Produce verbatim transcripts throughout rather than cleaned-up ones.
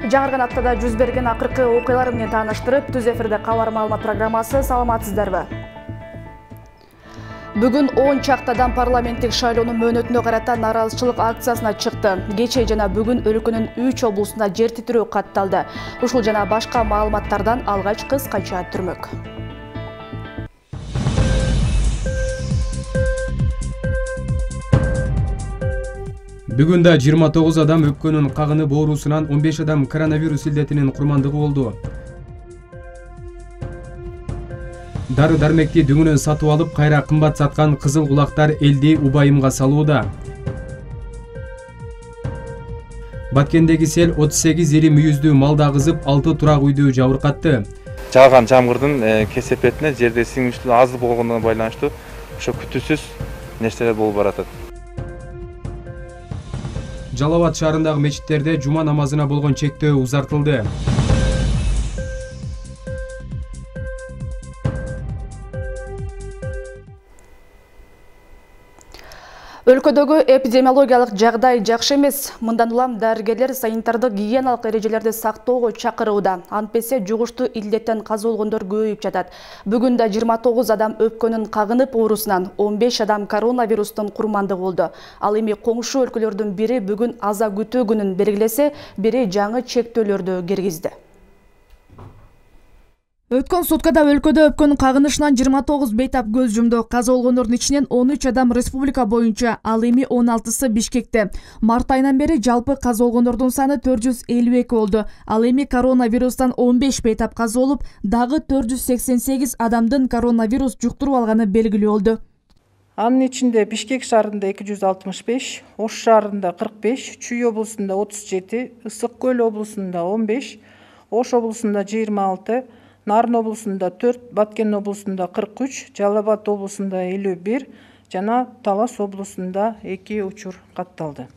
Жаңырган аптада жүз берген акыркы окуялар менен тааныштырып, түз эфирде кабар маалымат программасы. Саламатсыздарбы? Бүгүн он чактадан парламенттик шайлоонун мөөнөтүнө карата нааразычылык акциясына чыкты. Кечээ жана бүгүн өлкөнүн үч облусунда жер титирөө катталды. Ушул жана башка маалыматтардан алгач кыскача түрмөк. Бүгүн да жыйырма тогуз адам өпкөнүн кагынып оорусунан, он беш адам коронавирус илдетинин курмандыгы болду. Дары дармекти дүңүнөн сатып алып, кайра кымбат саткан кызыл кулактар элди убайымга салууда. Баткендеги сел отуз сегиз ири мүйүздүү малды агызып, алты турак үйдү жабыркатты. Жааган жамгырдын кесепетине жерде сиңиштүү аз болгондугуна байланыштуу ошо күтүүсүз нерселер болуп баратат. Жалал Абад шаарындагы мечиттерде жума намазына болгон чектөө узартылды. Өлкөдөгү эпидемиологиялык жагдай жакшы эмес. Мындан улам дарыгерлер санитардык гигиеналык эрежелерди сактоого чакырууда. Антпесе жугуштуу илдеттен каза болгондор көбөйүп жатат. Бүгүн да жыйырма тогуз адам өпкөнүн кагынып оорусунан, он беш адам коронавирустун курмандыгы болду. Ал эми коңшу өлкөлөрдүн бири бүгүн аза күтүү күнүн белгилесе, бири жаңы чектөөлөрдү киргизди. Өткөн суткада өлкөдө өпкөнүн кагынышынан жыйырма тогуз бейтап көз жумду. Каза болгондордун ичинен он үч адам республика боюнча, ал эми он алтысы Бишкекте. Март айынан бери жалпы каза болгондордун саны төрт жүз элүү эки болду. Ал эми коронавирустан он беш бейтап каза болуп, дагы төрт жүз сексен сегиз адамдын коронавирус жуктуруп алганы белгилүү болду. Анын ичинде Бишкек шаарында эки жүз алтымыш беш, Ош шаарында кырк беш, Чүй облусунда отуз жети, Ысык көл облусунда он беш, Ош облусунда жыйырма алты, Нарын облусунда төрт, Баткен облусунда кырк үч, Жалал Абад облусунда элүү бир жана Талас облусунда эки учур катталды.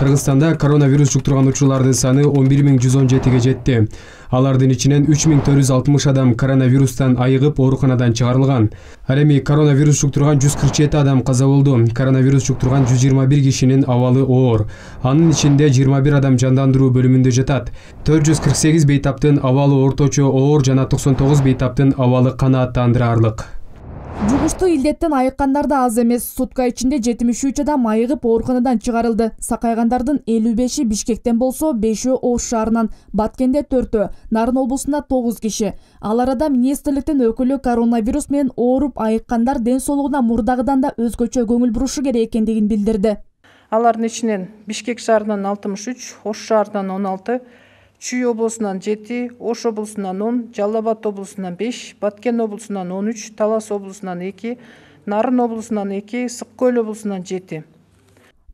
Кыргызстанда коронавирус жуктурган учурлардын саны он бир миң жүз он жетиге жетти. Алардын ичинен үч миң төрт жүз алтымыш адам коронавирустан айыгып ооруканадан чыгарылган. Ал эми коронавирус жуктурган жүз кырк жети адам каза болду. Коронавирус жуктурган жүз жыйырма бир кишинин абалы оор. Анын ичинде жыйырма бир адам жандандыруу бөлүмүндө жатат. төрт жүз кырк сегиз бейтаптын абалы орточо оор жана токсон тогуз бейтаптын абалы канааттандыраарлык. Жугуштуу илдеттен айыккандар да аз эмес. Сутка ичинде жетимиш үч адам айыгып ооруканадан чыгарылды. Сакайгандардын элүү беши Бишкектен болсо, бешөө Ош шаарынан, Баткенде төртөө, Нарын облусунда тогуз киши. Ал арада министрликтин өкүлү коронавирус менен ооруп айыккандар ден соолугуна мурдагыдан да өзгөчө көңүл бурушу керек экендигин билдирди. Алардын ичинен Бишкек шаарынан алтымыш үч, Ош шаарынан он алты, Чүй облусунан жети, Ош облусунан он, Жалал Абад облусунан беш, Баткен облусунан он үч, Талас облусунан эки, Нарын облусунан эки, Ысык көл облусунан жети.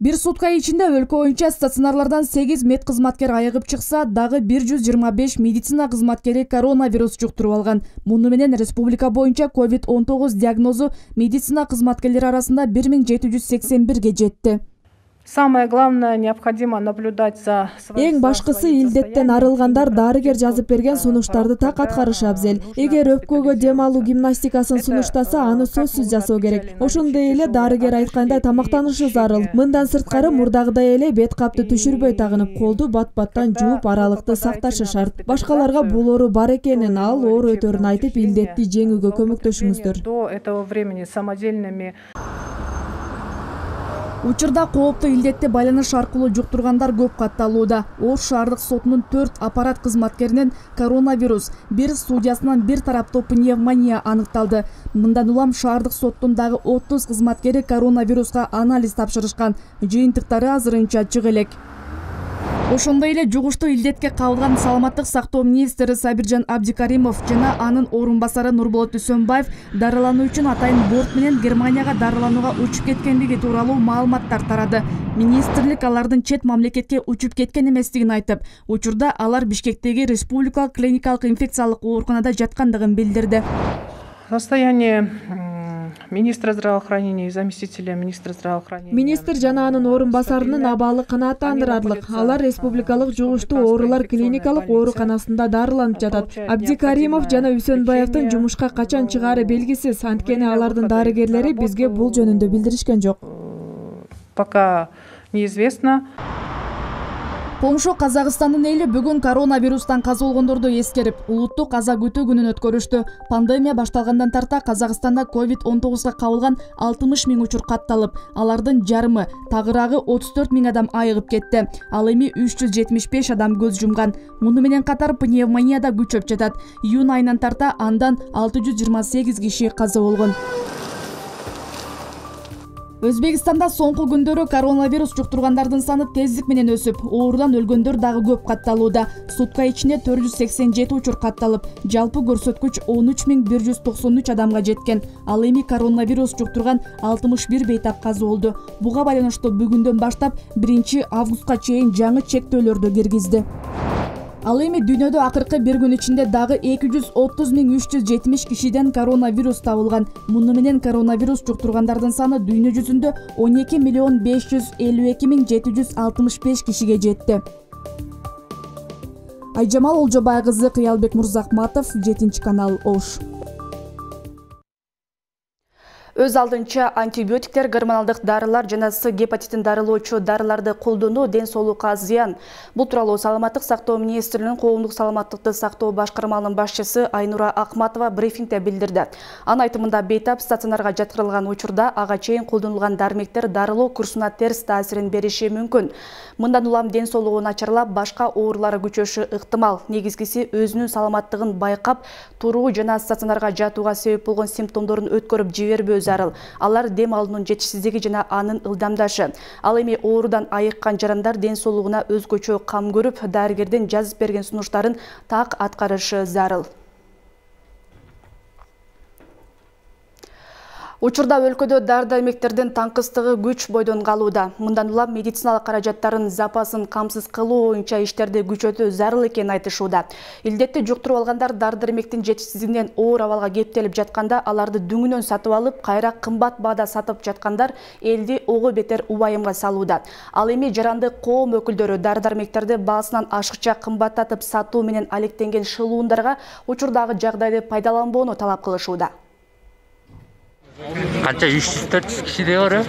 Бир сутка ичинде өлкө боюнча стационарлардан сегиз мед кызматкер айыгып чыкса, дагы бир жүз жыйырма беш медицина кызматкери коронавирус жуктуруп алган. Муну менен республика боюнча ковид он тогуз диагнозу медицина кызматкерлери арасында бир миң жети жүз сексен бирге жетти. Самое главное, необходимо наблюдать за... Эң башкысы илдеттен арылгандар дарыгер жазып берген сунуштарды так аткарышы абзел. Эгер өпкөгө дем алуу гимнастикасын сунуштаса, аны сөзсүз жасоо керек. Ошондой эле дарыгер айткандай тамактанышы зарыл. Мындан сырткары мурдагыдай эле бет капты түшүрбөй тагынып, колду бат-баттан жууп аралыкты сакташы шарт. Башкаларга бул оору бар экенин, ал оору өтөрүн айтып, илдетти жеңүүгө көмөктөшүңүздөр. До этого времени самодельными... Учурда кооптуу илдетти байланыш аркылуу жуктургандар көп катталууда. Ош шаардык сотунун төрт аппарат кызматкеринен коронавирус, бир судьясынан бир тараптуу пневмония аныкталды. Мындан улам шаардык соттун дагы отуз кызматкери коронавируска анализ тапшырышкан. Жыйынтыктары азырынча чыга элек. Ошондой эле жугуштуу илдетке кабылган саламаттык сактоо министри Сабиржан Абдикаримов жана анын орун басары Нурболот Үсөнбаев дарылануу үчүн атайын борт менен Германияга дарыланууга учуп кеткендиги тууралуу маалыматтар тарады. Министрлик алардын чет мамлекетке учуп кеткен эместигин айтып, учурда алар Бишкектеги республикалык клиникалык инфекциялык ооруканада жаткандыгын билдирди. Состояние министра здравоохранения и заместителя министра здравоохранения. Министр жана анын орун басарынын абалы канааттандырарлык. Алар республикалык жугуштуу оорулар клиникалык ооруканасында дарыланып жатат. Абдикаримов жана Үсөнбаевдин жумушка качан чыгаары белгисиз. Анткени алардын дарыгерлери бизге бул жөнүндө билдиришкен жок. Пока неизвестно. Коңшу Казакстандын эли бүгүн коронавирустан каза болгондорду эскерип, улуттук каза күтүү күнүн өткөрүштү. Пандемия башталгандан тарта Казакстанда ковид он тогузга кабылган алтымыш миң учур катталып, алардын жарымы, тагыраагы отуз төрт миң адам айыгып кетти. Ал эми үч жүз жетимиш беш адам көз жумган. Муну менен катар пневмония да күчөп жатат. Июнь айынан тарта андан алты жүз жыйырма сегиз киши каза болгон. Өзбекстанда соңку күндөрү коронавирус жуктургандардын саны тездик менен өсүп, оорудан өлгөндөр дагы көп катталууда. Сутка ичинде төрт жүз сексен жети учур катталып, жалпы көрсөткүч он үч миң бир жүз токсон үч адамга жеткен. Ал эми коронавирус жуктурган алтымыш бир бейтап каза болду. Буга байланыштуу бүгүндөн баштап биринчи августка чейин жаңы чектөөлөрдү киргизди. Ал эми дүйнөдө акыркы бир күн ичинде дагы эки жүз отуз миң үч жүз жетимиш кишиден коронавирус табылган. Муну менен коронавирус жуктургандардын саны дүйнө жүзүндө он эки миллион беш жүз элүү эки миң жети жүз алтымыш беш кишиге жетти. Айжамал Олжобай кызы, Кыялбек Мурзахматов, жетинчи канал, Ош. Өз алдынча антибиотиктер, гормоналдык дарылар жана С гепатитин дарылоочу дарыларды колдонуу ден соолукка зыян. Бул тууралуу Саламаттык сактоо министрлигинин коомдук саламаттыкты сактоо башкармалынын башчысы Айнура Акматова брифингде билдирди. Анын айтымында бейтап стационарга жаткырылган учурда ага чейин колдонулган дармектер дарылоо курсуна терс таасирин бериши мүмкүн. Мындан улам ден соолугу начарлап, башка оорулары күчөшү ыктымал. Негизгиси өзүнүн саламаттыгын байкап, туруу жана стационарга жатууга себеп болгон симптомдорун өткөрүп жибербөө зарыл. Алар дем алуунун жетишсиздиги жана анын ылдамдашы. Ал эми оорудан айыккан жарандар ден соолугуна өзгөчө кам көрүп, дарыгердин жазып берген сунуштарын так аткарышы зарыл. Учурда өлкөдө дары-дармектердин таңкыстыгы күч бойдон калууда. Мындан улам медициналык каражаттарын запасын камсыз кылуу боюнча иштерди күчөтүү зарыл экенин айтышууда. Илдетти жуктуруп алгандар дары-дармектин жетишсиздигинен оор абалга кептелип жатканда, аларды дүңүнөн сатып алып, кайра кымбат баада сатып жаткандар элди ого бетер убайымга салууда. Ал эми жаранды коом өкүлдөрү дары-дармектерди баасынан ашыкча кымбаттатып сатуу менен алектенген шылуундарга учурдагы жагдайды пайдаланбоону талап кылышууда. Канча үч жүз төрт жүз кишиде бар.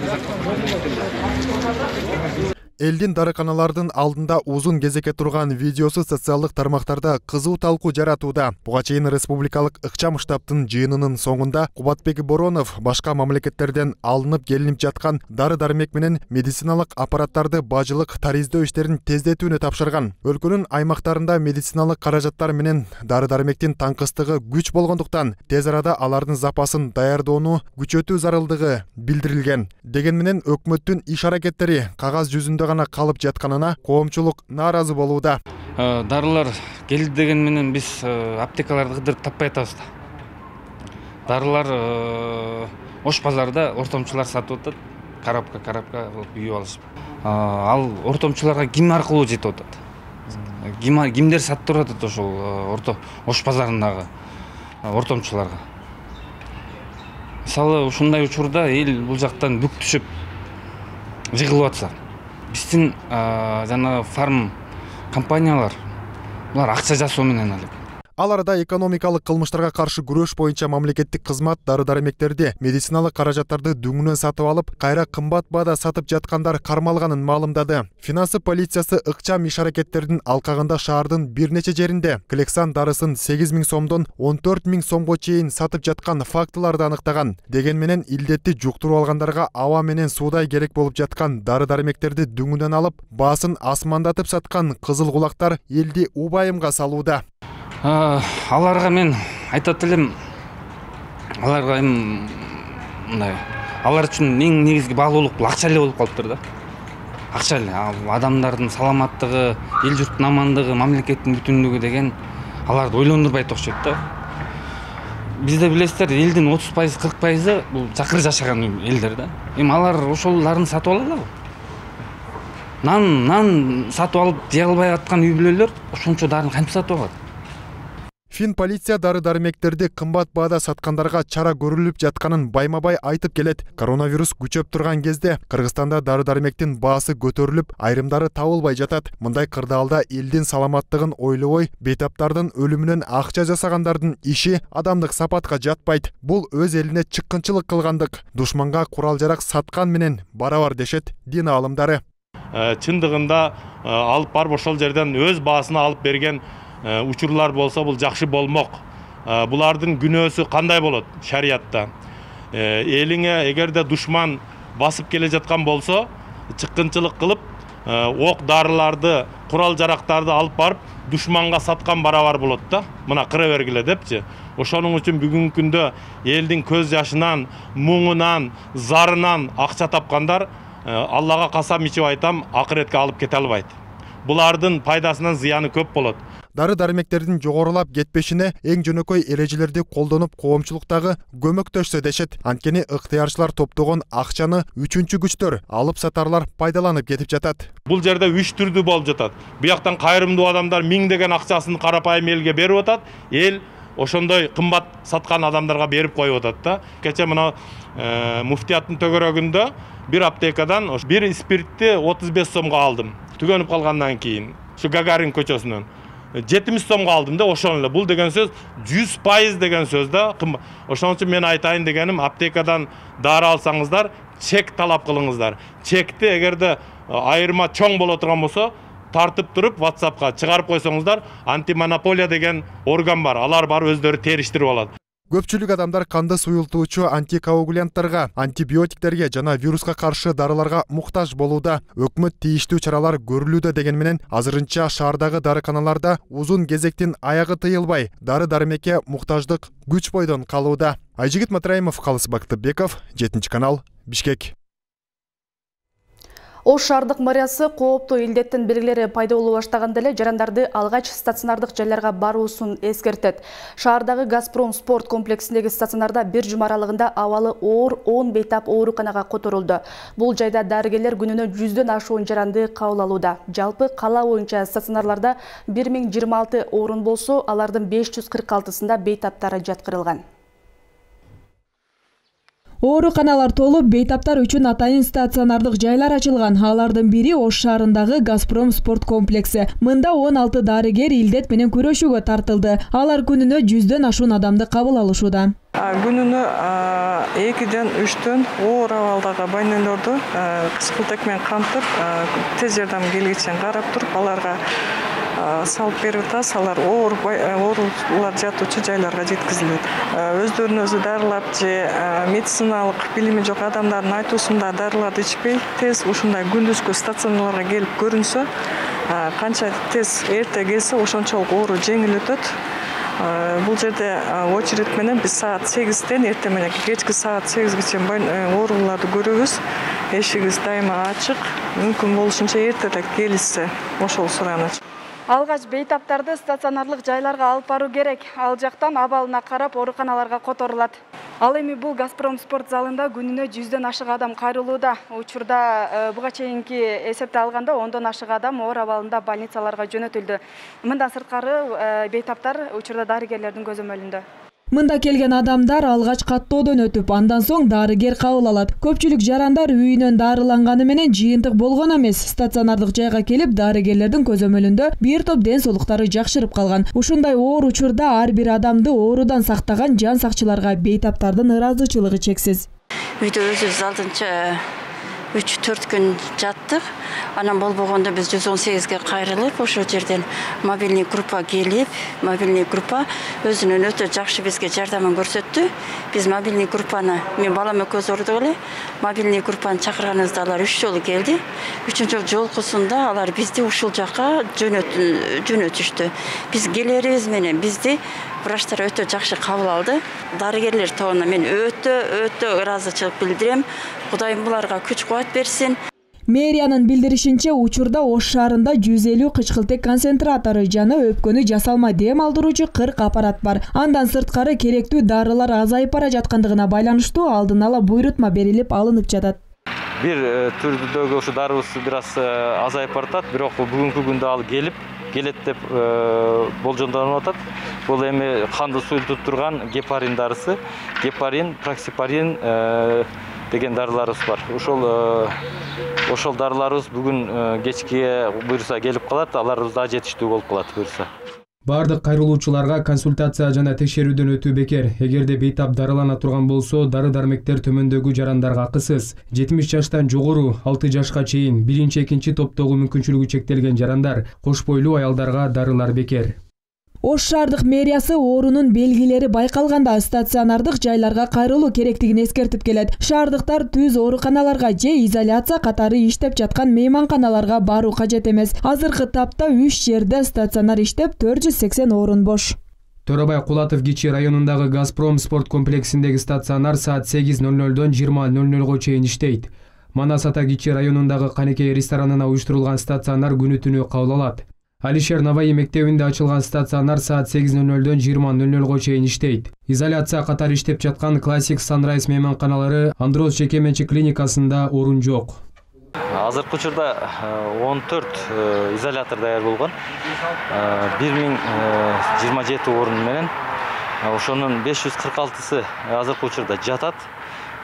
Элдин дарыканалардын алдында узун кезекке турган видеосу социалдык тармактарда кызуу талкуу жаратууда. Буга чейин республикалык ыкчам штабтын жыйынынын соңунда Кубатбек Боронов башка мамлекеттерден алынып келинип жаткан дары-дармек менен медициналык аппараттарды бажылык тариздөө иштерин тездетүүнү тапшырган. Өлкөнүн аймактарында медициналык каражаттар менен дары-дармектин таңкыстыгы күч болгондуктан тез арада алардын запасын даярдоону күчөтүү зарылдыгы билдирилген. Деген менен өкмөттүн иш аракеттери кагаз жүзүндө гана калып жатканына коомчулук нааразы болууда. Дарылар келди деген менен биз аптекаларды кыдырып таппай атабыз да. Дарылар Ош базарда ортомчулар сатып атат, карапка карапка кылып үйүп алышып. Ал ортомчуларга ким аркылуу жетип атат? Кимдер сатып атат ошол орто Ош базарындагы ортомчуларга? Мисалы ушундай учурда эл бул жактан бүк түшүп жыгылып атса, биздин жана фарм компаниялар булар акча жасоо менен алек. Ал арада экономикалык кылмыштарга каршы күрөш боюнча мамлекеттик кызмат дары-дармектерди, медициналык каражаттарды дүңүнөн сатып алып, кайра кымбат баада сатып жаткандар кармалганын маалымдады. Финансы полициясы ыкчам иш аракеттердин алкагында шаардын бир нече жеринде Клексан дарысын сегиз миң сомдон он төрт миң сомго чейин сатып жаткан фактыларды аныктаган. Деген менен илдетти жуктуруп алгандарга аба менен суудай керек болуп жаткан дары-дармектерди дүңүнөн алып, баасын асмандатып саткан кызыл кулактар элди убайымга салууда. Аларга мен айтат элем, аларга эми мындай, алар үчүн эң негизги баалуулук бул акча эле болуп калыптыр да. Акча эле, адамдардын саламаттыгы, эл журттун амандыгы, мамлекеттин бүтүнлүгү деген аларды ойлондурбайт окшойт да. Бизде билесиздер, элдин отуз пайыз кырк пайызы бул чакыр жашаган элдер да. Эми алар ошолдарын сатып алаларбы? Нан, нан сатып алып жей албай аткан үй бүлөлөр ошончо дарын кантип сатып алат? Фин полиция дары-дармектерди кымбат баада саткандарга чара көрүлүп жатканын байма-бай айтып келет. Коронавирус күчөп турган кезде Кыргызстанда дары-дармектин баасы көтөрүлүп, айрымдары табылбай жатат. Мындай кырдаалда элдин саламаттыгын ойлобой, бейтаптардын өлүмүнөн акча жасагандардын иши адамдык сапатка жатпайт. Бул өз элине чыккынчылык кылгандык, душманга курал-жарак саткан менен барабар дешет дин аалымдары. чындыгында алып барып ошол жерден өз баасына алып берген учурлар болсо бул жакшы болмок. Булардын күнөөсү кандай болот шариятта? Элиңе эгерде душман басып келе жаткан болсо, чыккынчылык кылып, ок дарыларды, курал жарактарды алып барып душманга саткан барабар болот да. Мына кыра бергиле депчи. Ошонун үчүн бүгүнкү күндө элдин көз жашынан, муңунан, зарынан акча тапкандар Аллага касам ичип айтам, акыретке алып кете албайт. Булардын пайдасынан зыяны көп болот. Дары-дармектердин жогорулап кетпешине эң жөнөкөй эрежелерди колдонуп коомчулуктагы көмөктөшсө дешет. Анткени ыктыярчылар топтогон акчаны үчүнчү күчтөр, алып сатарлар пайдаланып кетип жатат. Бул жерде үч түрдүү болуп жатат. Буяктан кайрымдуу адамдар миңдеген акчасын карапайым элге берип атат. Эл ошондой кымбат саткан адамдарга берип коюп атат да. Кече мына муфтияттын төгөрөгүндө бир аптекадан бир спиртти отуз беш сомго алдым. Түгөнүп калгандан кийин ушу Гагарин көчөсүнөн жетимиш сомго алдым да. Ошон эле бул деген сөз жүз пайыз деген сөз да. Ошон үчүн мен айтайын дегеним, аптекадан дары алсаңыздар, чек талап кылыңыздар. Чекти эгерде айырма чоң боло турган болсо, тартып туруп WhatsAppка чыгарып койсоңуздар, антимонополия деген орган бар. Алар барып өздөрү териштирип алат. Көпчүлүк адамдар канды суюлтуучу антикоагулянттарга, антибиотиктерге жана вируска каршы дарыларга муктаж болууда. Өкмөт тийиштүү чаралар көрүлүүдө деген менен азырынча шаардагы дарыканаларда узун кезектин аягы тыйылбай, дары-дармекке муктаждык күч бойдон калууда. Айжигит Матраимов, Калыс Бактыбеков, жетинчи канал, Бишкек. Ош шаардык мэриясы кооптуу илдеттин белгилери пайда боло баштаганда эле жарандарды алгач стационардык жайларга баруусун эскертет. Шаардагы Газпром спорт комплексиндеги стационарда бир жума аралыгында абалы оор он бейтап ооруканага которулду. Бул жайда дарыгерлер күнүнө жүздөн ашуун жаранды кабыл алууда. Жалпы кала боюнча стационарларда бир миң жыйырма алты орун болсо, алардын беш жүз кырк алтысында бейтаптары жаткырылган. Ооруканалар толуп, бейтаптар үчүн атайын стационардык жайлар ачылган. Алардын бири Ош шаарындагы Газпром спорт комплекси. Мында он алты дарыгер илдет менен күрөшүүгө тартылды. Алар күнүнө жүздөн ашуун адамды кабыл алышууда. Күнүнө экиден үчтөн оор абалдагы больнойлорду кычкылтек менен камтып, тез жардам келгичен карап туруп, аларга салып берип атабыз. Алар оор оорулар жатуучу жайларга жеткизилет. Өздөрүн өзү дарылап же медициналык билими жок адамдардын айтуусунда дарыларды ичпей, тез ушундай күндүзгү стационарларга келип көрүнсө, канча тез эрте келсе, ошончолук оору жеңил өтөт. Бул жерде очередь менен биз саат сегизден эрте менен кечки саат сегизге чейин ооруларды көрөбүз. Эшигибиз дайыма ачык. Мүмкүн болушунча эртелик келишсе, ошол сураныч. Алгач бейтаптарды стационарлык жайларга алып баруу керек. Ал жактан абалына карап ооруканаларга которулат. Ал эми бул Газпром спорт залында күнүнө жүздөн ашык адам кайрылууда. Учурда буга чейинки эсепти алганда ондон ашык адам оор абалында больницаларга жөнөтүлдү. Мындан сырткары бейтаптар учурда дарыгерлердин көзөмөлүндө. Мында келген адамдар алгач каттоодон өтүп, андан соң дарыгер кабыл алат. Көпчүлүк жарандар үйүнөн дарыланганы менен жыйынтык болгон эмес. Стационардык жайга келип, дарыгерлердин көзөмөлүндө бир топ ден соолуктары жакшырып калган. Ушундай оор учурда ар бир адамды оорудан сактаган жан сакчыларга бейтаптардын ыраазычылыгы чексиз. Үйдө өзүбүз алдынча үч төрт күн жаттык. Анан болбогондо биз жүз он сегизге кайрылып, ошол жерден мобильный группа келип, мобильный группа өзүнүн өтө жакшы бизге жардамын көрсөттү. Биз мобильный группаны, мен балам экөөбүз ордук эле, мобильный группаны чакырганыбызда алар үч жолу келди. Үчүнчү жолкусунда алар бизди ушул жака жөнөтүштү. Биз келерибиз менен бизди врачтар өтө жакшы кабыл алды. Дарыгерлер тобуна мен өтө өтө ыраазычылык билдирем. Кудайым буларга күч кубат берсин. Мэриянын билдиришинче, учурда Ош шаарында жүз элүү кычкылтек концентратору жана өпкөнү жасалма дем алдыруучу кырк аппарат бар. Андан сырткары керектүү дарылар азайып бара жаткандыгына байланыштуу алдын ала буйрутма берилип алынып жатат. Бир түрдөгү ушу дарыбыз бир аз азайып баратат, бирок бүгүнкү күндө ал келип келет деп болжомдонуп атат. Бул эми канды суюлтуп турган гепарин дарысы, гепарин, проксипарин деген дарыларыбыз бар. Ошол ошол дарыларыбыз бүгүн кечке буюрса келип калат, аларыбыз да жетиштүү болуп калат буюрса. Бардык кайрылуучуларга консультация жана текшерүүдөн өтүү бекер. Эгерде бейтап дарылана турган болсо, дары-дармектер төмөндөгү жарандарга акысыз. жетимиш жаштан жогору, алты жашка чейин, биринчи экинчи топтогу мүмкүнчүлүгү чектелген жарандар, кош бойлуу аялдарга дарылар бекер. Ош шаардык мэриясы оорунун белгилери байкалганда стационардык жайларга кайрылуу керектигин эскертип келет. Шаардыктар түз ооруканаларга же изоляция катары иштеп жаткан мейманканаларга баруу кажет эмес. Азыркы тапта үч жерде стационар иштеп, төрт жүз сексен орун бош. Торобай Кулатов Кичи районундагы Газпром спорт комплексиндеги стационар саат сегиз ноль нолдон жыйырма ноль нолго чейин иштейт. Манас Ата Кичи районундагы Канекей ресторанына уюштурулган стационар күнү түнү кабыл алат. Алишер Наваи мектебинде ачылган стационар саат сегиз ноль нолдон жыйырма ноль нолго чейин иштейт. Изоляция катары иштеп жаткан Классик Санрайз мейманканалары Андроз жеке менчик клиникасында орун жок. Азыркы учурда он төрт изолятор даяр болгон. бир миң жыйырма жети орун менен ошонун беш жүз кырк алтысы азыркы учурда жатат.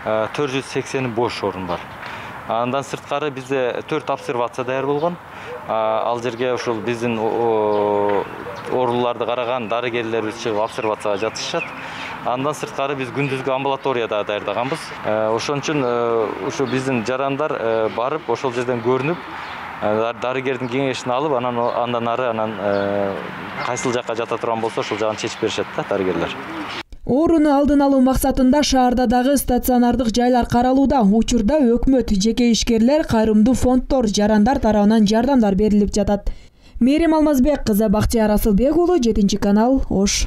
төрт жүз сексени бош орун бар. Андан сырткары бизде төрт обсервация даяр болгон. Ал жерге ушул биздин ооруларды караган дарыгерлерибиз чыгып обсервацияга жатышат. Андан сырткары биз күндүзгү амбулаторияда даярдаганбыз. Ошон үчүн ушу биздин жарандар барып ошол жерден көрүнүп, дарыгердин кеңешин алып, анан андан ары анан кайсыл жакка жата турган болсо ошол жагын чечип беришет да дарыгерлер. Ооруну алдын алуу максатында шаарда дагы стационардык жайлар каралууда. Учурда өкмөт, жеке ишкерлер, кайрымдуу фонддор, жарандар тарабынан жардамдар берилип жатат. Мерим Алмазбек кызы, Бактияр Асылбек уулу, жетинчи канал, Ош.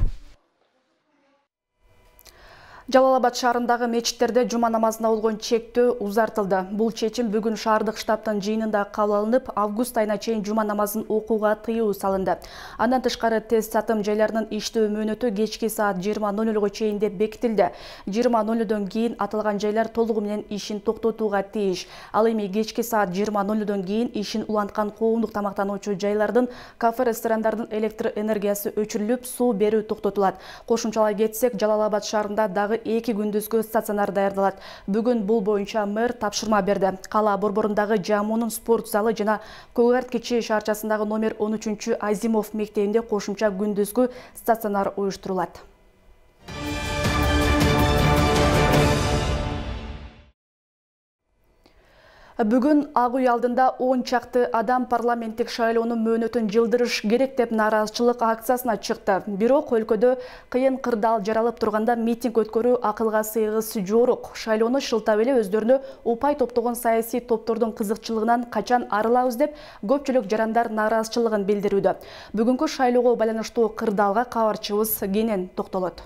Жалал-Абад шаарындагы мечиттерде жума намазына болгон чектөө узартылды. Бул чечим бүгүн шаардык штабтын жыйынында кабыл алынып, август айына чейин жума намазын окууга тыюу салынды. Андан тышкары тест сатым жайларынын иштөө мөөнөтү кечки саат жыйырма ноль нолго чейин деп бекитилди. жыйырма нолдон кийин аталган жайлар толугу менен ишин токтотууга тийиш. Ал эми кечки саат жыйырма нолдон кийин ишин уланткан коомдук тамактануучу жайлардын, кафе, ресторандардын электр энергиясы өчүрүлүп, суу берүү токтотулат. Кошумчалай кетсек, Жалал-Абад шаарында дагы эки күндүзгү стационар даярдалат. Бүгүн бул боюнча мэр тапшырма берди. Кала борборундагы Жамунун спорт залы жана Көгарт Кичи шаарчасындагы номер он үчүнчү Азимов мектебинде кошумча күндүзгү стационар уюштурулат. Бүгүн Ак үй алдында он чакты адам парламенттик шайлоонун мөөнөтүн жылдырыш керек деп нааразычылык акциясына чыкты. Бирок өлкөдө кыйын кырдаал жаралып турганда митинг өткөрүү акылга сыйгыс жок. Шайлоону шылтап эле өздөрүнө упай топтогон саясий топтордун кызыкчылыгынан качан арылабыз деп көпчүлүк жарандар нааразычылыгын билдирүүдө. Бүгүнкү шайлоого байланыштуу кырдаалга кабарчыбыз кенен токтолот.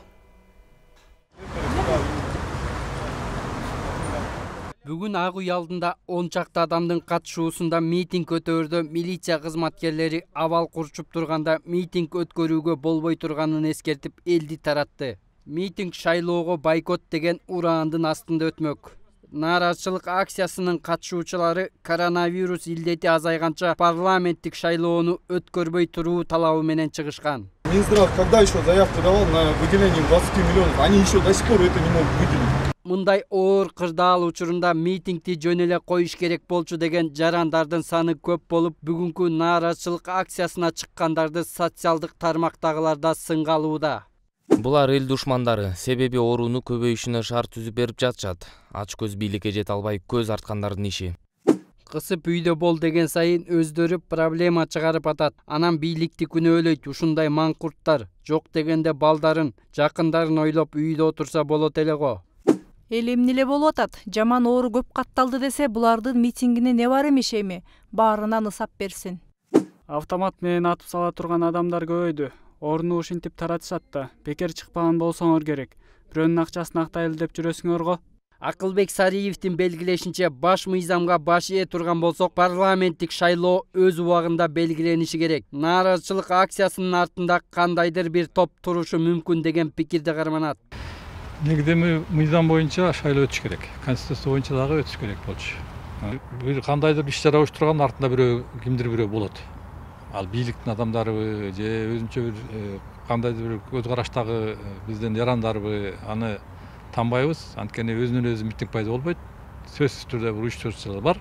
Бүгүн Ак үй алдында он чакты адамдын катышуусунда митинг өтөөрдө милиция кызматкерлери абал курчуп турганда митинг өткөрүүгө болбой турганын эскертип элди таратты. Митинг шайлоого бойкот деген ураандын астында өтмөк. Нааразычылык акциясынын катышуучулары коронавирус илдети азайганча парламенттик шайлоону өткөрбөй туруу талабы менен чыгышкан. Минздрав когда еще заявку давал на выделение двадцати миллионов, они еще до сих пор это не могут выделить. Мындай оор кырдаал учурунда митингди жөн эле коюш керек болчу деген жарандардын саны көп болуп, бүгүнкү нааразычылык акциясына чыккандарды социалдык тармактагыларда сынга алууда. Булар эл душмандары, себеби ооруну көбөйүшүнө шарт түзүп берип жатышат. Ач көз бийликке жете албай көз арткандардын иши. Кысып үйдө бол деген сайын өздөрү проблема чыгарып атат. Анан бийликти күнөөлөйт. Ушундай маңкурттар жок дегенде балдарын, жакындарын ойлоп үйдө отурса болот эле го. Эл эмне эле болуп атат? Жаман оору көп катталды десе, булардын митингине не бар эмеш эми? Баарынан ысап берсин. Автомат менен атып сала турган адамдар көбөйдү. Орну ушинтип таратышат да. Бекер чыкпаган болсоңор керек. Бирөөнүн акчасын актайлы деп жүрөсүңөр го. Акылбек Сариевдин белгилешинче, баш мыйзамга баш ээ турган болсок, парламенттик шайлоо өз убагында белгилениши керек. Нааразычылык акциясынын артында кандайдыр бир топ турушу мүмкүн деген пикирде карманат. Негиде мыйзам боюнча шайлоо өтүш керек. Конституция боюнча дагы өтүш керек болчу. Бир кандайдыр иш чара уюштурган артында бирөө кимдир бирөө болот. Ал бийликтин адамдарыбы же өзүнчө бир кандайдыр бир көз караштагы биздин жарандарбы, аны танбайбыз. Анткени өзүнөн өзү митинг пайда болбойт. Сөзсүз түрдө бир уюштуруучулар бар.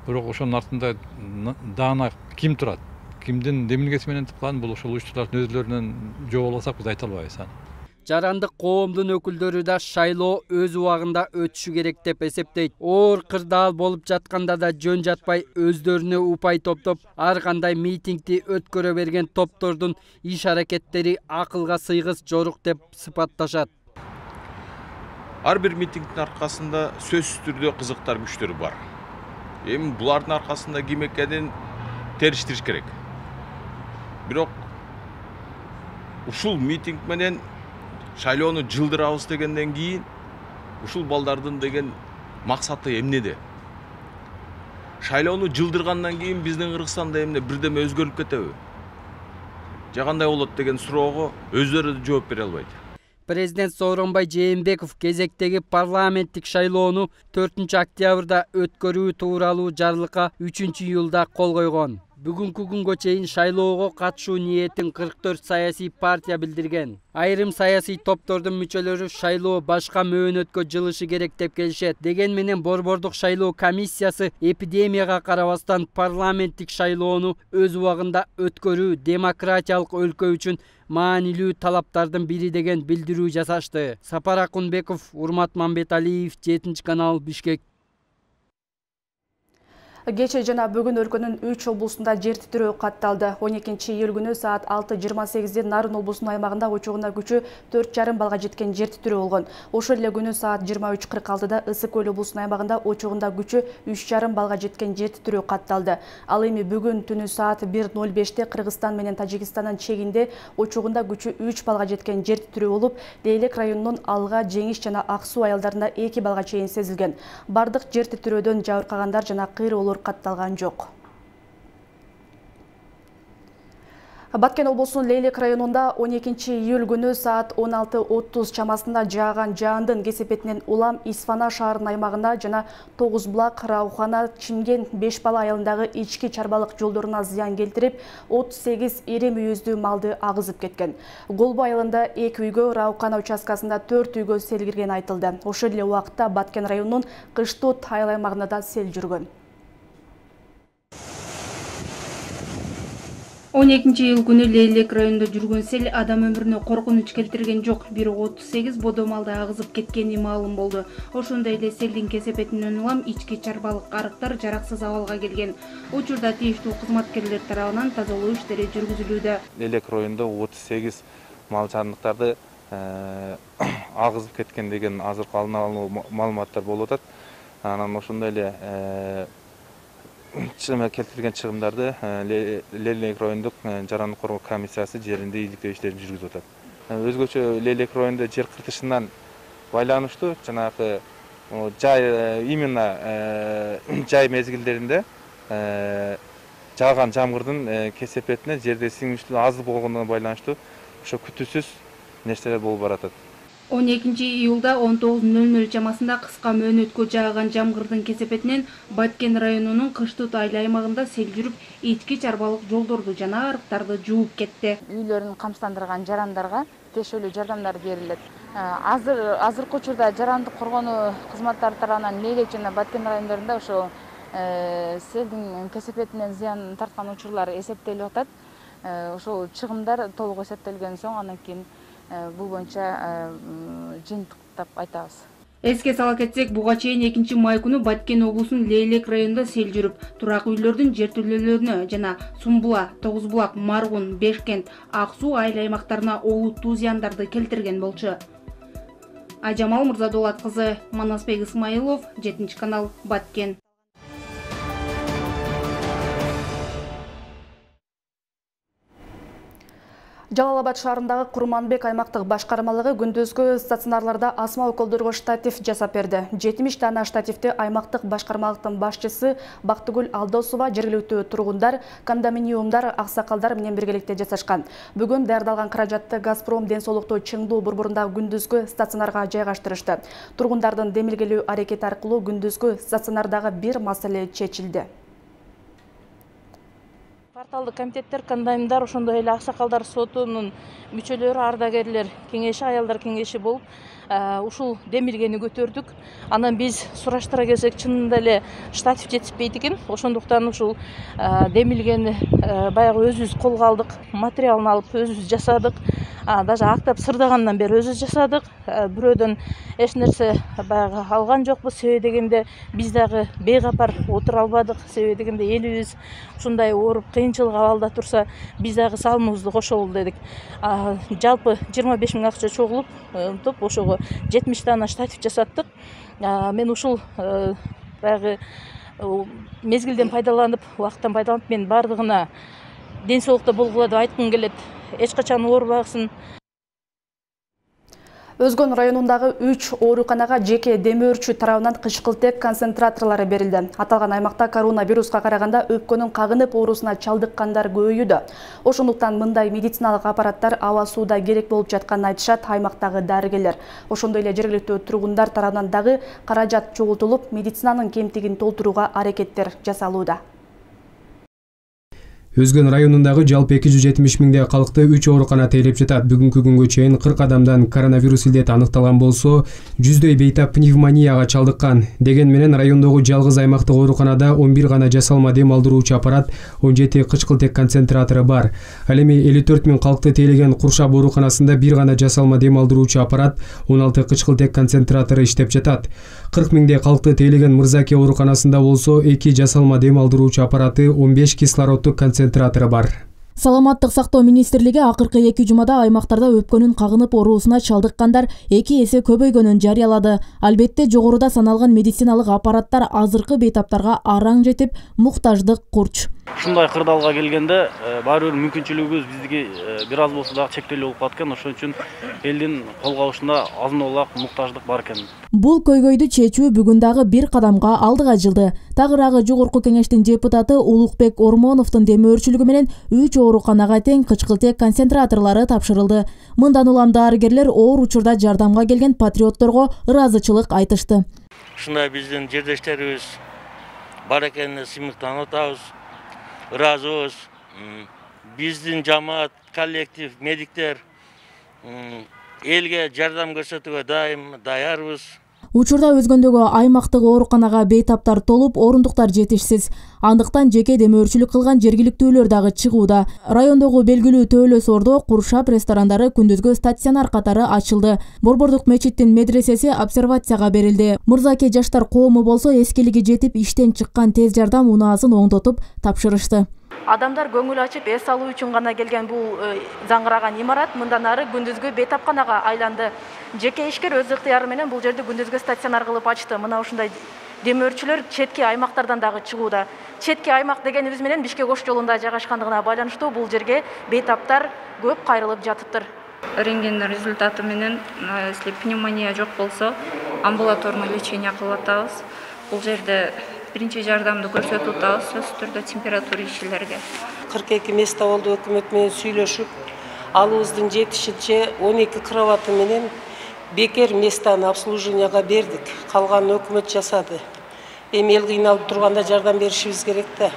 Бирок ошонун артында даана ким турат? кимдин демилгеси менен тыккан, бул ошол уюштуруулардын өздөрүнөн жок алсак биз айта албайбыз аны. Жарандык коомдун өкүлдөрү да шайлоо өз убагында өтүшү керек деп эсептейт. Оор кырдаал болуп жатканда да жөн жатпай өздөрүнө упай топтоп, ар кандай митингди өткөрө берген топтордун иш аракеттери акылга сыйгыс жорук деп сыпатташат. Ар бир митингдин аркасында сөзсүз түрдө кызыктар күчтөр бар. Эми булардын аркасында ким экенин териштириш керек. Бирок ушул митинг менен шайлоону жылдырабыз дегенден кийин ушул балдардын деген максаты эмнеде? Шайлоону жылдыргандан кийин биздин Кыргызстанда эмне бирдеме өзгөрүп кетеби? Же кандай болот деген суроого өздөрү да жооп бере албайт. Президент Сооронбай Жээнбеков кезектеги парламенттик шайлоону төртүнчү октябрда өткөрүү тууралуу жарлыкка үчүнчү июлда кол койгон. Бүгүнкү күнгө чейин шайлоого катышуу ниетин кырк төрт саясий партия билдирген. Айрым саясий топтордун мүчөлөрү шайлоо башка мөөнөткө жылышы керек деп келишет. Деген менен Борбордук шайлоо комиссиясы эпидемияга карабастан парламенттик шайлоону өз убагында өткөрүү демократиялык өлкө үчүн маанилүү талаптардын бири деген билдирүү жасашты. Сапар Акунбеков, Урмат Мамбеталиев, жетинчи канал, Бишкек. Кече жана бүгүн өлкөнүн үч облусунда жер титирөө катталды. он экинчи июль күнү саат алты жыйырма сегизде Нарын облусунун аймагында учугуна күчү төрт жарым балга жеткен жер титирөө болгон. Ошол эле күнү саат жыйырма үч кырк алтыда Ысык көл облусунун аймагында учугунда күчү үч жарым балга жеткен жер титирөө катталды. Ал эми бүгүн түнү саат бир ноль беште Кыргызстан менен Тажикстандын чегинде учугунда күчү үч балга жеткен жер титирөө болуп, Лейлек районунун Алга, Жеңиш жана Ак суу айылдарында эки балга чейин сезилген. Бардык жер титирөөдөн жабыркагандар жана кыйроолор катталган жок. Баткен облусунун Лейлек районунда он экинчи июль күнү саат он алты отуз чамасында жааган жаандын кесепетинен улам Исфана шаарынын аймагында жана Тогуз булак, Раухана, Чимген, Беш бала айылындагы ички чарбалык жолдоруна зыян келтирип, отуз сегиз ири мүйүздүү малды агызып кеткен. Голбу айылында эки үйгө, Раухана участкасында төрт үйгө сел кирген айтылды. Ошол эле убакытта Баткен районунун Кыштут айыл аймагында да сел жүргөн. он экинчи июль күнү Лейлек районунда жүргөн сел адам өмүрүнө коркунуч келтирген жок, бирок отуз сегиз бодо малды агызып кеткени маалым болду. Ошондой эле селдин кесепетинен улам ички чарбалык арыктар жараксыз абалга келген. Учурда тийиштүү кызматкерлер тарабынан тазалоо иштери жүргүзүлүүдө. Лейлек районунда отуз сегиз мал жандыктарды агызып кеткен деген азыркы алдын алуу маалыматтар болуп атат. Анан ошондой эле келтирилген чыгымдарды Лейлек райондук жарандык коргоо комиссиясы жеринде ийгиликтөө иштерин жүргүзүп атат. Өзгөчө Лейлек районунда жер кыртышынан байланыштуу жанагы жай именно жай мезгилдеринде жааган жамгырдын кесепетине жерде сиңүүчүлүгү аз болгондугуна байланыштуу ошо күтүүсүз нерселер болуп баратат. он экинчи июлда он тогуз ноль ноль чамасында кыска мөөнөткө жааган жамгырдын кесепетинен Баткен районунун Кыштут айыл аймагында сел жүрүп, ички чарбалык жолдорду жана арыктарды жууп кетти. Үйлөрүн камсыздандырган жарандарга тиешелүү жардамдар берилет. Азыр азыркы учурда жарандык коргонуу кызматтары тарабынан Лейлек жана Баткен райондорунда ошо селдин кесепетинен зыян тарткан учурлар эсептелип атат. Ошол чыгымдар толук эсептелген соң андан кийин бул боюнча жыйынтыктап айтабыз. Эске сала кетсек, буга чейин экинчи май күнү Баткен облусунун Лейлек районунда сел жүрүп, турак үйлөрдүн жертөлөлөрүнө жана Сумбула, Тогуз булак, Маргун, Бешкент, Ак суу айыл аймактарына олуттуу зыяндарды келтирген болчу. Ажамал Мырзадолат кызы, Манасбек Исмаилов, жетинчи канал, Баткен. Жалал-Абад шаарындагы Курманбек аймактык башкармалыгы күндүзгү стационарларда асма уколдорго штатив жасап берди. жетимиш дана штативди аймактык башкармалыктын башчысы Бактыгүл Алдосова жергиликтүү тургундар, кондоминиумдар, аксакалдар менен биргеликте жасашкан. Бүгүн даярдалган каражатты Газпром ден соолукту Чыңдуу борборундагы күндүзгү стационарга жайгаштырышты. Тургундардын демилгелүү аракети аркылуу күндүзгү стационардагы бир маселе чечилди. Кварталдык комитеттер, кондоминиумдар, ошондой эле аксакалдар сотунун мүчөлөрү, ардагерлер кеңеши, аялдар кеңеши болуп, ушул демилгени көтөрдүк. Анан биз сураштыра келсек, чынында эле штатив жетишпейт экен. Ошондуктан ушул демилгени баягы өзүбүз колго алдык, материалын алып өзүбүз жасадык. Даже актап сырдагандан бери өзүбүз жасадык. Бирөөдөн эч нерсе баягы алган жокпуз. Себеби дегенде биз дагы бейкапар отура албадык. Себеби дегенде элибиз ушундай ооруп кыйынчылык абалда турса, биз дагы салымыбызды кошолу дедик. Жалпы жыйырма беш миң акча чогулуп, ошого жетимиш дана штатив жасаттык. Мен ушул баягы мезгилден пайдаланып, убакыттан пайдаланып, мен бардыгына ден соолукта болгула деп айткым келет. Эч качан оорубагысын. Өзгөн районундагы үч ооруканага жеке демөөрчү тарабынан кычкылтек концентраторлору берилди. Аталган аймакта коронавируска караганда өпкөнүн кагынып оорусуна чалдыккандар көбөйүүдө. Ошондуктан мындай медициналык аппараттар аба сууда керек болуп жатканын айтышат аймактагы дарыгерлер. Ошондой эле жергиликтүү тургундар тарабынан дагы каражат чогултулуп, медицинанын кемтигин толтурууга аракеттер жасалууда. Өзгөн районундагы жалпы эки жүз жетимиш миңдей калкты үч оорукана тейлеп жатат. Бүгүнкү күнгө чейин кырк адамдан коронавирус илдети аныкталган болсо, жүздөй бейтап пневмонияга чалдыккан. Деген менен райондогу жалгыз аймактык ооруканада он бир гана жасалма дем алдыруучу аппарат, он жети кычкылтек концентратору бар. Ал эми элүү төрт миң калкты тейлеген Куршап ооруканасында бир гана жасалма дем алдыруучу аппарат, он алты кычкылтек концентратору иштеп жатат. кырк миңдей калкты тейлеген Мырзаке ооруканасында болсо, эки жасалма дем алдыруучу аппараты, он беш кислороддук концентратору бар. Саламаттык сактоо министрлиги акыркы эки жумада аймактарда өпкөнүн кагынып оорусуна чалдыккандар эки эсе көбөйгөнүн жарыялады. Албетте жогоруда саналган медициналык аппараттар азыркы бейтаптарга араң жетип, муктаждык курч. Ушундай кырдаалга келгенде баары бир мүмкүнчүлүгүбүз биздики бир аз болсо дагы чектелүү болуп калат экен. Ошон үчүн элдин кол кабышында азын-аулак муктаждык бар экен. Бул көйгөйдү чечүү бүгүн дагы бир кадамга алдыга жылды. Тагыраагы жогорку кеңештин депутаты Улукбек Ормоновдун демөөрчүлүгү менен үч ооруканага тең кычкылтек концентраторлору тапшырылды. Мындан улам дарыгерлер оор учурда жардамга келген патриотторго ыраазычылык айтышты. Ушундай биздин жердештерибиз бар экенине сыймыктанып атабыз. Ыраазыбыз. Биздин жамаат, коллектив, медиктер элге жардам көрсөтүүгө дайым даярбыз. Учурда өзгөндөгү аймактык ооруканага бейтаптар толуп, орундуктар жетишсиз. Андыктан жеке демөөрчүлүк кылган жергиликтүүлөр дагы чыгууда. Райондогу белгилүү Төөлө Сордо Куршап ресторандары күндүзгү стационар катары ачылды. Борбордук мечиттин медресеси обсервацияга берилди. Мырзаке жаштар коому болсо эскилиги жетип иштен чыккан тез жардам унаасын оңдотуп тапшырышты. Адамдар көңүл ачып эс алуу үчүн гана келген бул заңгыраган имарат мындан ары күндүзгү бейтапканага айланды. Жеке ишкер өз ыктыяры менен бул жерди күндүзгү стационар кылып ачты. Мына ушундай демөөрчүлөр четки аймактардан дагы чыгууда. Четки аймак дегенибиз менен Бишкек ош жолунда жайгашкандыгына байланыштуу бул жерге бейтаптар көп кайрылып жатыптыр. Рентген результаты менен, если пневмония жок болсо, амбулаторный лечение кылып атабыз. Бул жерде биринчи жардамды көрсөтүп атабыз, сөзсүз түрдө температура ишчилерге. кырк эки место болду өкмөт менен сүйлөшүп, алыбыздын жетишинче он эки кроваты менен бекер местаны обслуживанияга бердик. Калганын өкмөт жасады. Эми эл кыйналып турганда жардам беришибиз керек да.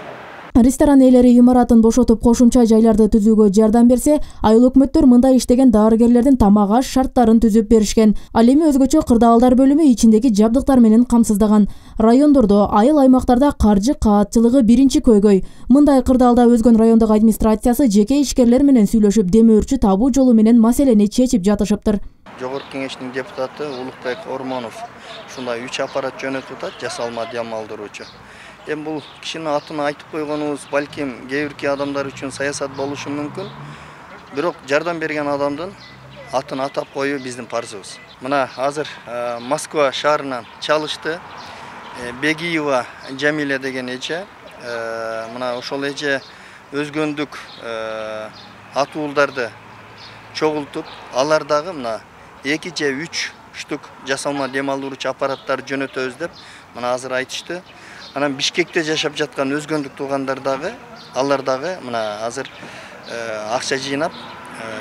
Ресторан ээлери имаратын бошотуп кошумча жайларды түзүүгө жардам берсе, айыл өкмөттөр мындай иштеген дарыгерлердин тамак аш шарттарын түзүп беришкен. Ал эми өзгөчө кырдаалдар бөлүмү ичиндеги жабдыктар менен камсыздаган. Райондордо, айыл аймактарда каржы каатчылыгы биринчи көйгөй. Мындай кырдаалда Өзгөн райондук администрациясы жеке ишкерлер менен сүйлөшүп, демөөрчү табуу жолу менен маселени чечип жатышыптыр. Жогорку кеңештин депутаты Улукбек Ормонов ушундай үч аппарат жөнөтүп атат, жасалма дем алдыруучу. Эми бул кишинин атын айтып койгонубуз балким кээ бирки адамдар үчүн саясат болушу мүмкүн. Бирок жардам берген адамдын атын атап коюу биздин парзыбыз. Мына азыр Москва шаарынан чалышты. Бегиева Жамиля деген эже. Мына ошол эже өзгөндүк атуулдарды чогултуп, алар дагы мына эки же үч штук жасалма дем алдыруучу аппараттар жөнөтөбүз деп мына азыр айтышты. Анан Бишкекте жашап жаткан өзгөндүк туугандар дагы, алар дагы мына азыр акча жыйнап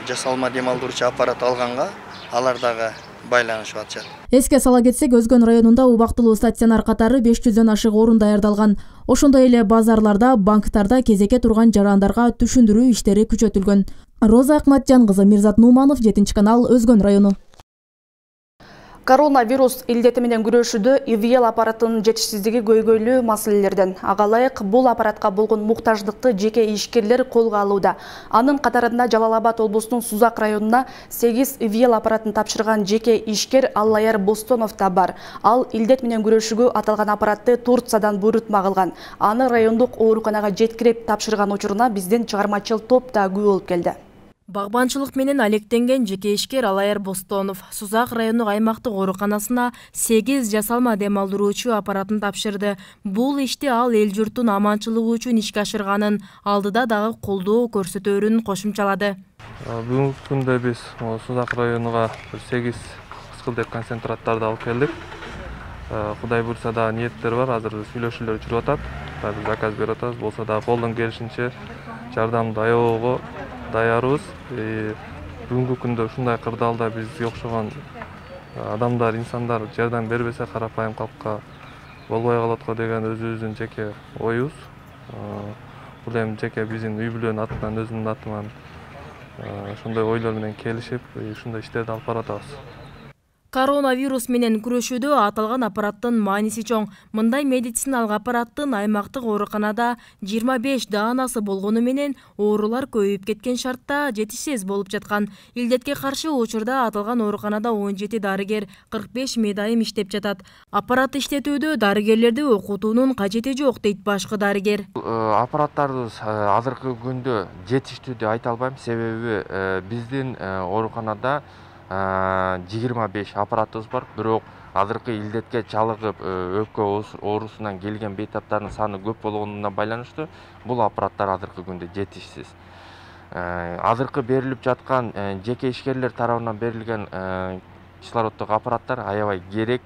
жасалма дем алдыруучу аппарат алганга алар дагы байланышып атышат. Эске сала кетсек, Өзгөн районунда убактылуу стационар катары беш жүздөн ашык орун даярдалган. Ошондой эле базарларда, банктарда кезекке турган жарандарга түшүндүрүү иштери күчөтүлгөн. Роза Акматжан кызы, Мирзат Нуманов, жетинчи канал, Өзгөн району. Коронавирус илдети менен күрөшүүдө и ви эл аппаратынын жетишсиздиги көйгөйлүү маселелерден. Ага ылайык бул аппаратка болгон муктаждыкты жеке ишкерлер колго алууда. Анын катарында Жалал Абад облусунун Сузак районуна сегиз и ви эл аппаратын тапшырган жеке ишкер Аллаяр Бостонов да бар. Ал илдет менен күрөшүүгө аталган аппаратты Турциядан буйрутма кылган. Аны райондук ооруканага жеткирип тапшырган учуруна биздин чыгармачыл топ да күбө болуп келди. Багбанчылык менен алектенген жеке ишкер Аллаяр Бостонов Сузак райондук аймактык ооруканасына сегиз жасалма дем алдыруучу аппаратын тапшырды. Бул ишти ал эл журттун аманчылыгы үчүн ишке ашырганын, алдыда дагы колдоо көрсөтөөрүн кошумчалады. Бүгүнкү күндө биз Сузак районуга сегиз кыскылдек концентраттарды алып келдик. Кудай буйрса да ниеттер бар, азыр сүйлөшүүлөр жүрүп атат. Биз заказ берип атабыз, болсо да колдон келишинче жардамды аябоого даярбыз. Бүгүнкү күндө ушундай кырдаалда бизге окшогон адамдар, инсандар жардам бербесе карапайым калкка болбой калат го деген өзүбүздүн жеке оюбуз. Бул эми жеке биздин үй бүлөнүн атынан, өзүмдүн атыман ошондой ойлор менен келишип, ушундай иштерди алып баратабыз. Коронавирус менен күрөшүүдө аталган аппараттын мааниси чоң. Мындай медициналык аппараттын аймактык ооруканада жыйырма беш даанасы болгону менен оорулар көбөйүп кеткен шартта жетишсиз болуп жаткан. Илдетке каршы учурда аталган ооруканада он жети дарыгер, кырк беш медайым иштеп жатат. Аппарат иштетүүдө дарыгерлерди окутуунун кажети жок дейт башкы дарыгер. Аппараттарыбыз азыркы күндө жетиштүү деп айта албайм, себеби биздин ооруканада жыйырма беш аппаратыбыз бар, бирок азыркы илдетке чалыгып өпкө оорусунан келген бейтаптардын саны көп болгонуна байланыштуу бул аппараттар азыркы күндө жетишсиз. Азыркы берилип жаткан жеке ишкерлер тарабынан берилген кислороддук аппараттар аябай керек,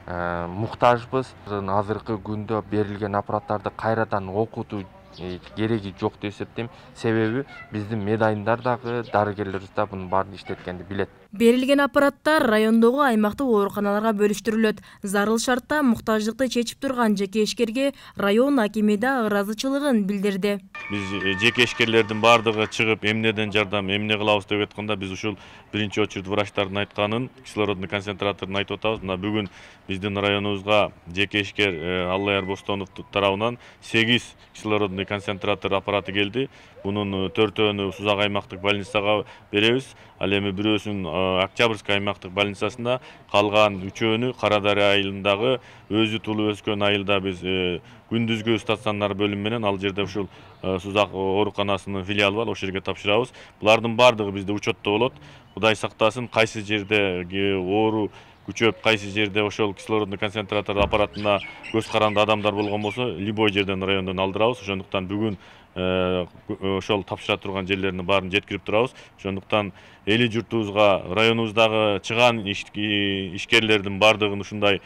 муктажбыз. Азыркы күндө берилген аппараттарды кайрадан окутуу кереги жок деп эсептейм, себеби биздин медайымдар дагы дарыгерлерибиз да мунун баарын иштеткенди билет. Берилген аппараттар райондогу аймактык ооруканаларга бөлүштүрүлөт. Зарыл шартта муктаждыкты чечип турган жеке ишкерге район акими да ыраазычылыгын билдирди. Биз жеке ишкерлердин баардыгы чыгып эмнеден жардам, эмне кылабыз деп айтканда биз ушул биринчи очередь врачтардын айтканын, кислородный концентраторун айтып атабыз. Мына бүгүн биздин районубузга жеке ишкер Аллаяр Бостонов тарабынан сегиз кислородный концентратор аппараты келди. Бунун төртөөнү Сузак аймактык больницага беребиз. Ал эми бирөөсүн Октябрьский аймактык больницасында, калган үчөөнү Кара Дарыя айылындагы өзү туулуп өскөн айылда биз күндүзгү стационар бөлүм менен ал жерде ушул Сузак ооруканасынын филиалы бар, ошол жерге тапшырабыз. Булардын баардыгы бизде учетто болот. Кудай сактасын, кайсы жерде оору күчөп, кайсы жерде ошол кислородный концентратор аппаратына көз каранды адамдар болгон болсо, любой жерден райондон алдырабыз. Ошондуктан бүгүн ошол тапшыра турган жерлердин баарын жеткирип турабыз. Ошондуктан эли журтубузга, районубуздагы чыган ишкерлердин баардыгын ушундай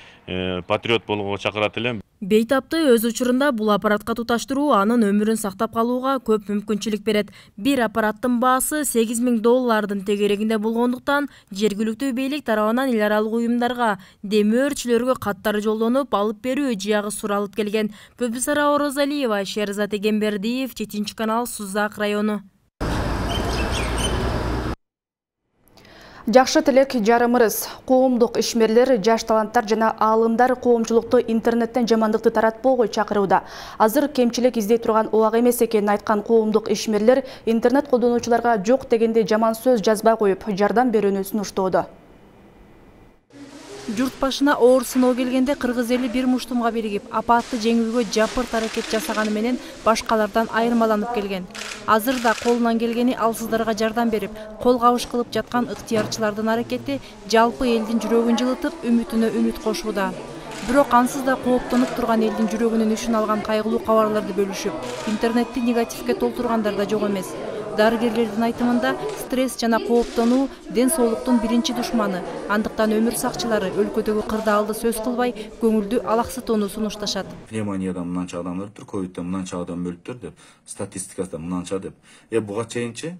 патриот болгонго чакырат элем. Бейтапты өз учурунда бул аппаратка туташтыруу анын өмүрүн сактап калууга көп мүмкүнчүлүк берет. Бир аппараттын баасы сегиз миң доллардын тегерегинде болгондуктан жергиликтүү бийлик тарабынан эл аралык уюмдарга, демөөрчүлөргө каттар жолдонулуп, алып берүү жыягы суралып келген. Пөбүсара Орозалиева, Шерзат Эгембердиев, жетинчи канал, Сузак району. Жакшы тилек жарымырыз. Коомдук ишмерлер, жаш таланттар жана аалымдар коомчулукту интернеттен жамандыкты таратпоого чакырууда. Азыр кемчилик издей турган убак эмес экенин айткан коомдук ишмерлер интернет колдонуучуларга жок дегенде жаман сөз жазбай коюп, жардам берүүнү сунуштоодо. Журт башына оор сыноо келгенде кыргыз эли бир муштумга биригип, апатты жеңүүгө жапырт аракет жасаганы менен башкалардан айырмаланып келген. Азыр да колунан келгени алсыздарга жардам берип, кол кабыш кылып жаткан ыктыярчылардын аракети жалпы элдин жүрөгүн жылытып, үмүтүнө үмүт кошууда. Бирок ансыз да кооптонуп турган элдин жүрөгүнүн үшүн алган кайгылуу кабарларды бөлүшүп, интернетти негативге толтургандар да жок эмес. Дарыгерлердин айтымында стресс жана кооптонуу ден соолуктун биринчи душманы. Андыктан өмүр сакчылары өлкөдөгү кырдаалды сөз кылбай, көңүлдү алаксытууну сунушташат. Пневмониядан мынанча адам өлүптүр, ковидтен мынанча адам өлүптүр деп, статистикада мынанча деп. Э буга чейинчи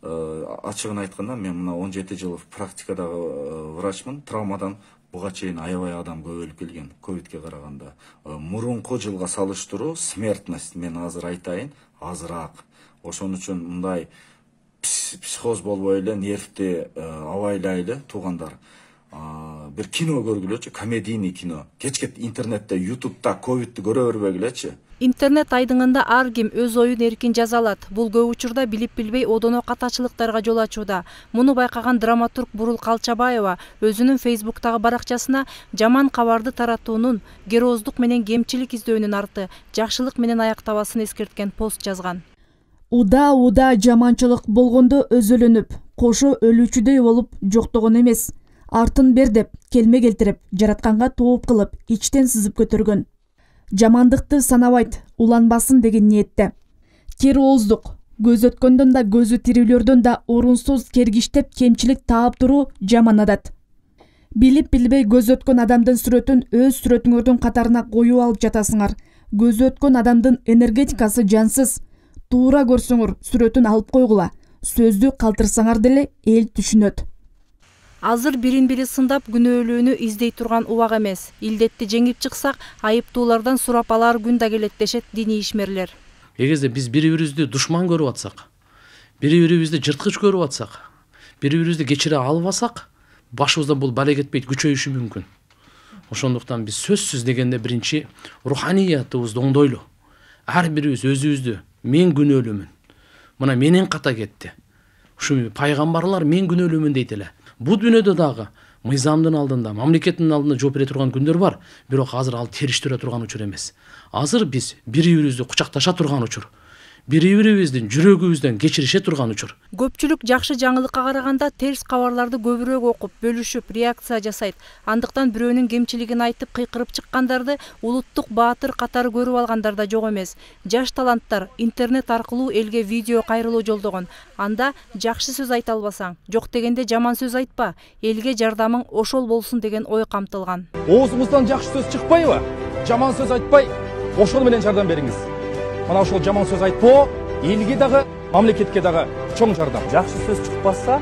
ачыгын айтканда мен мына он жети жыл практикадагы врачмын, травмадан буга чейин аябай адам көп өлүп келген ковидке караганда. Мурунку жылга салыштыруу смертность мен азыр айтайын азыраак. Ошон үчүн мындай психоз болбой эле, нервти абайлайлы туугандар. бир кино көргүлөчү, комедийный кино. Кечке интернетте, ютубта ковидти көрө бербегилечи. Интернет айдыңында ар ким өз оюн эркин жаза алат. Бул көп учурда билип билбей одоно катачылыктарга жол ачууда. Муну байкаган драматург Бурул Калчабаева өзүнүн Фейсбуктагы баракчасына жаман кабарды таратуунун герооздук менен кемчилик издөөнүн арты жакшылык менен аяктабасын эскерткен пост жазган. Уда-уда жаманчылык болгондо өзөлөнүп, кошо өлүүчүдөй болуп жоктогон эмес. Артын бер деп, келме келтирип, жаратканга тооп кылып, ичтен сызып көтөргөн. Жамандыкты санабайт, уланбасын деген ниетте. Кер ооздук, көз өткөндөн да көзү тирүүлөрдөн да орунсуз кергиштеп кемчилик таап туруу жаман адат. Билип билбей көз өткөн адамдын сүрөтүн өз сүрөтүңөрдүн катарына коюп алып жатасыңар. Көз өткөн адамдын энергетикасы жансыз. Туура көрсөңөр сүрөтүн алып койгула. Сөздү калтырсаңар деле эл түшүнөт. Азыр бирин-бири сындап күнөөлүүнү издей турган убак эмес. Илдетти жеңип чыксак, айыптуулардан сурап алар күн да келет дешет диний ишмерлер. Эгерде биз бири-бирибизди душман көрүп атсак, бири-бирибизди жырткыч көрүп атсак, бири-бирибизди кечире албасак, башыбыздан бул бала кетпейт, күчөйүшү мүмкүн. Ошондуктан биз сөзсүз дегенде биринчи руханиятыбызды оңдойлу. Ар бирибиз өзүбүздү мен күнөөлүүмүн. Мына менен ката кетти. Ушу пайгамбарлар мен күнөөлүүмүн дейт эле. Бул дүйнөдө дагы мыйзамдын алдында, мамлекеттин алдында жооп бере турган күндөр бар, бирок азыр ал териштире турган учур эмес. Азыр биз бири-бирибизди кучакташа турган учур. Бири-бирибиздин жүрөгүбүздөн кечирише турган учур. Көпчүлүк жакшы жаңылыкка караганда терс кабарларды көбүрөөк окуп, бөлүшүп, реакция жасайт. Андыктан бирөөнүн кемчилигин айтып кыйкырып чыккандарды улуттук баатыр катары көрүп алгандар да жок эмес. Жаш таланттар интернет аркылуу элге видео кайрылуу жолдогон. Анда жакшы сөз айта албасаң, жок дегенде жаман сөз айтпа, элге жардамың ошол болсун деген ой камтылган. Оозуңуздан жакшы сөз чыкпайбы? Жаман сөз айтпай, ошол менен жардам бериңиз. Мына ошол жаман сөз айтпоо элге дагы, мамлекетке дагы чоң жардам. Жакшы сөз чыкпаса,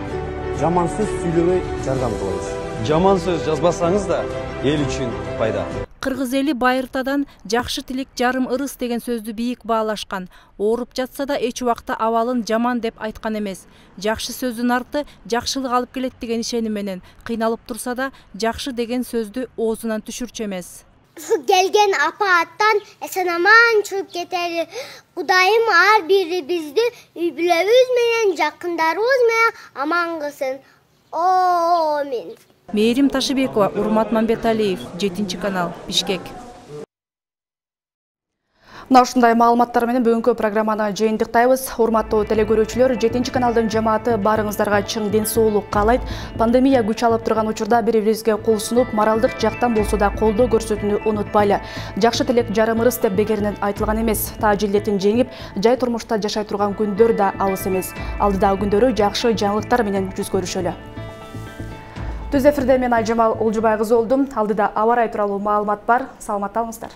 жаман сөз сүйлөбөй жардам кылабыз. Жаман сөз жазбасаңыз да эл үчүн пайда. Кыргыз эли Байыртадан жакшы тилек жарым ырыс деген сөздү бийик баалашкан. Ооруп жатса да эч убакта абалын жаман деп айткан эмес. Жакшы сөздүн арты жакшылык алып келет деген ишеним менен кыйналып турса да жакшы деген сөздү оозунан түшүрчү эмес. Gelgen апааттан эсен-аман чыгып кетели. Кудайым ар бирибизди үй бүлөбүз менен, жакындарыбыз менен аман кылсын. Амин. Мээрим Ташыбекова, Урмат Мамбеталиев, жетинчи канал, Бишкек. Мына ушундай маалыматтар менен бүгүнкү программаны жыйынтыктайбыз. Урматтуу телекөрүүчүлөр, жетинчи каналдын жамааты баарыңыздарга чың ден соолук каалайт. Пандемия күч алып турган учурда бири-бирибизге кол сунуп, моралдык жактан болсо да колдоо көрсөтүүнү унутпайлы. Жакшы тилек жарым ырыс деп бекеринен айтылган эмес. Тааж илдетин жеңип, жай турмушта жашай турган күндөр да алыс эмес. Алдыдагы күндөрү жакшы жаңылыктар менен жүз көрүшөлү. Түз эфирде мен Айжамал Олжубай кызы болдум. Алдыда аба ырайы тууралуу маалымат бар. Саламатта болуңуздар.